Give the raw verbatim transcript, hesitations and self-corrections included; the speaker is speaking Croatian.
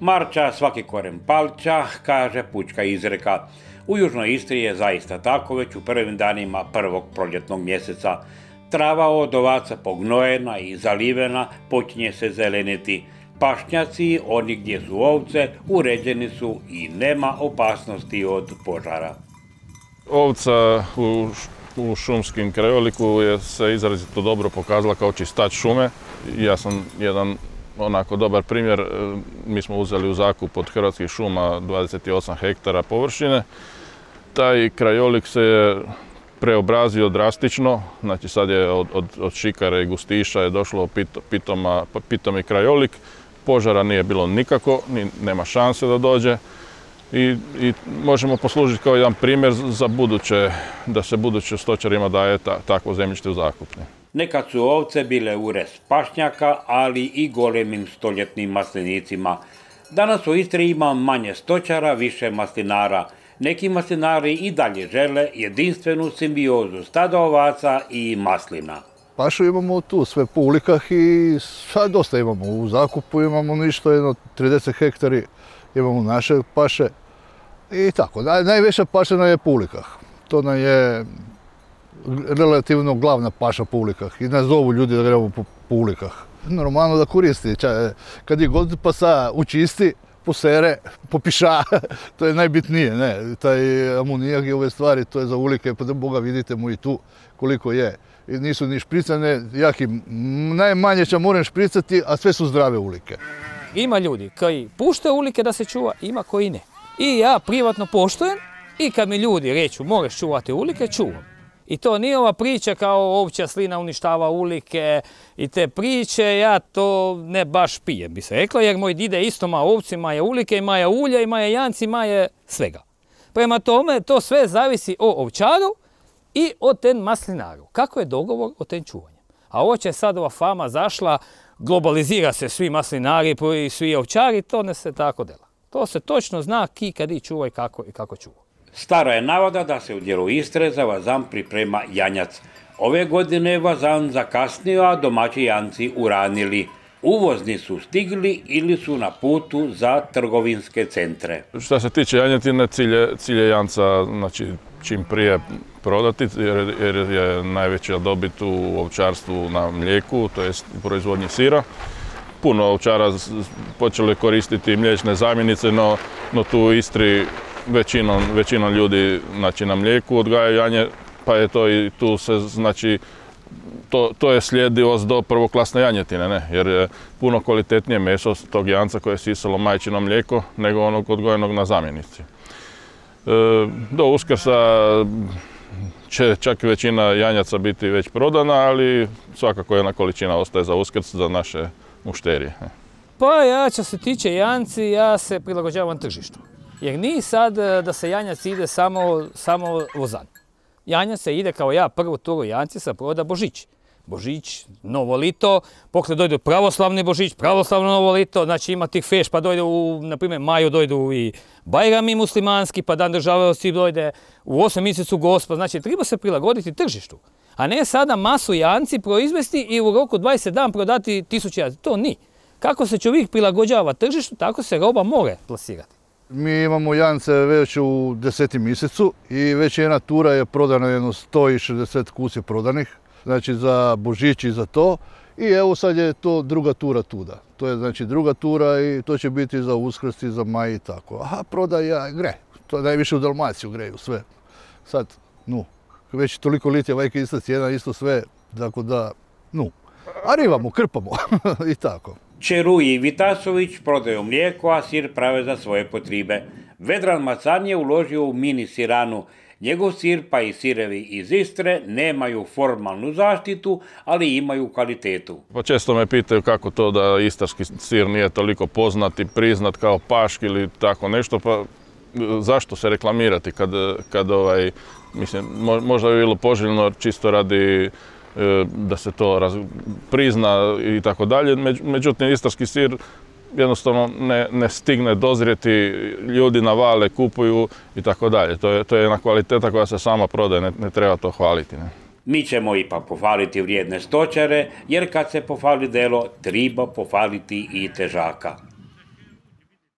Marča svaki koren palča, kaže pučka izreka. U južnoj Istri je zaista tako već u prvim danima prvog proljetnog mjeseca. Trava od ovaca pognojena i zalivena počinje se zeleniti. Pašnjaci, oni gdje su ovce, uređeni su i nema opasnosti od požara. Ovca u, u šumskim krajoliku je se izrazito dobro pokazala kao čistač šume. Ja sam jedan onako dobar primjer. Mi smo uzeli u zakup od Hrvatskih šuma dvadeset osam hektara površine. Taj krajolik se je preobrazio drastično, znači sad je od, od, od šikare i gustiša je došlo pito, pitoma, pitomi krajolik. Požara nije bilo nikako, ni, nema šanse da dođe i, i možemo poslužiti kao jedan primjer za buduće, da se buduće stočarima daje ta, takvo zemljište u zakup. Nekad su ovce bile urez pašnjaka, ali i golemim stoljetnim maslinicima. Danas u Istri ima manje stočara, više maslinara. Neki maslinari i dalje žele jedinstvenu simbiozu stada ovaca i maslina. Pašu imamo tu sve po ulikah i sad dosta imamo. U zakupu imamo ništa, jedno trideset hektari imamo naše paše i tako. Naj, najveća paša nam je po ulikah. To nam je relativno glavna paša po ulikah i nas zovu ljudi da gledamo po, po ulikah. Normalno da koristi, kad je god pasa učisti, posere, popiša, to je najbitnije, ne, taj amonijak i ove stvari, to je za ulike, pa da Boga vidite mu i tu koliko je. I nisu ni špricane, jaki, najmanje će moram špricati, a sve su zdrave ulike. Ima ljudi koji puštaju ulike da se čuva, ima koji ne. I ja privatno poštujem i kad mi ljudi reću moraš čuvati ulike, čuvam. I to nije ova priča kao ovčja slina uništava ulike i te priče, ja to ne baš pijem, bi se rekla, jer moj dide isto ma ovci, maje ulike, i maje ulje, i maje janci, maje svega. Prema tome, to sve zavisi o ovčaru i o ten maslinaru. Kako je dogovor o ten čuvanju? A ovo će sad ova fama zašla, globalizira se svi maslinari i svi ovčari, to ne se tako dela. To se točno zna ki, kad i čuva i kako, i kako čuva. Stara je navada da se u dijelu Istre za vazam priprema janjac. Ove godine je vazam zakasnio, a domaći janci uranili. Uvozni su stigli ili su na putu za trgovinske centre. Što se tiče janjetine, cilj je, cilj je janca znači, čim prije prodati, jer, jer je najveća dobit u ovčarstvu na mlijeku, to jest u proizvodnji sira. Puno ovčara počeli koristiti mliječne zamjenice, no, no tu u Istri Većinom, većinom ljudi znači, na mlijeku odgajaju janje, pa je to i tu se, znači, to, to je sljedivost do prvoklasne janjetine, ne? Jer je puno kvalitetnije meso tog janca koje je sisalo majčino mlijeko nego onog odgojenog na zamjenici. E, do Uskrsa će čak većina janjaca biti već prodana, ali svakako jedna količina ostaje za Uskrs za naše mušterije. Pa ja, što se tiče janci, ja se prilagođavam tržištu. Jer nije sad da se janjac ide samo, samo vozan. Janjac se ide kao ja prvu turu janci sa proda Božić. Božić, novo lito, pokle dojde pravoslavni Božić, pravoslavno novo lito, znači ima tih feš, pa dojde u, na primjer, maju dojdu i Bajrami muslimanski, pa dan državnosti dojde u osam mjesecu Gospa, znači treba se prilagoditi tržištu. A ne sada masu janci proizvesti i u roku dvadeset dana prodati tisuće janci. To nije. Kako se čovjek prilagođava tržištu, tako se roba more plasirati. Mi imamo jance već u desetim mjesecu i već jedna tura je prodana, jedno sto šezdeset kuće prodanih, znači za Božić i za to. I evo sad je to druga tura tuda. To je znači druga tura i to će biti za Uskrs i za maj i tako. Aha, prodaja gre, to najviše u Dalmaciju greju sve. Sad, nu, već toliko litija vajke ista cijena, isto sve, tako da, nu. A rivamo, krpamo i tako. Čeru i Vitasović prodaju mlijeko, a sir prave za svoje potribe. Vedran Macan je uložio u mini siranu. Njegov sir pa i sirevi iz Istre nemaju formalnu zaštitu, ali imaju kvalitetu. Pa često me pitaju kako to da istarski sir nije toliko poznat i priznat kao paški ili tako nešto, pa zašto se reklamirati kad, kad ovaj, mislim, možda bi bilo poželjno čisto radi da se to raz, prizna i tako dalje. Međutim, istarski sir jednostavno ne, ne stigne dozrijeti, ljudi navale, kupuju i tako dalje. To je, to je jedna kvaliteta koja se sama prodaje, ne, ne treba to hvaliti. Ne? Mi ćemo ipak pohvaliti vrijedne stočare, jer kad se pohvali delo, treba pohvaliti i težaka.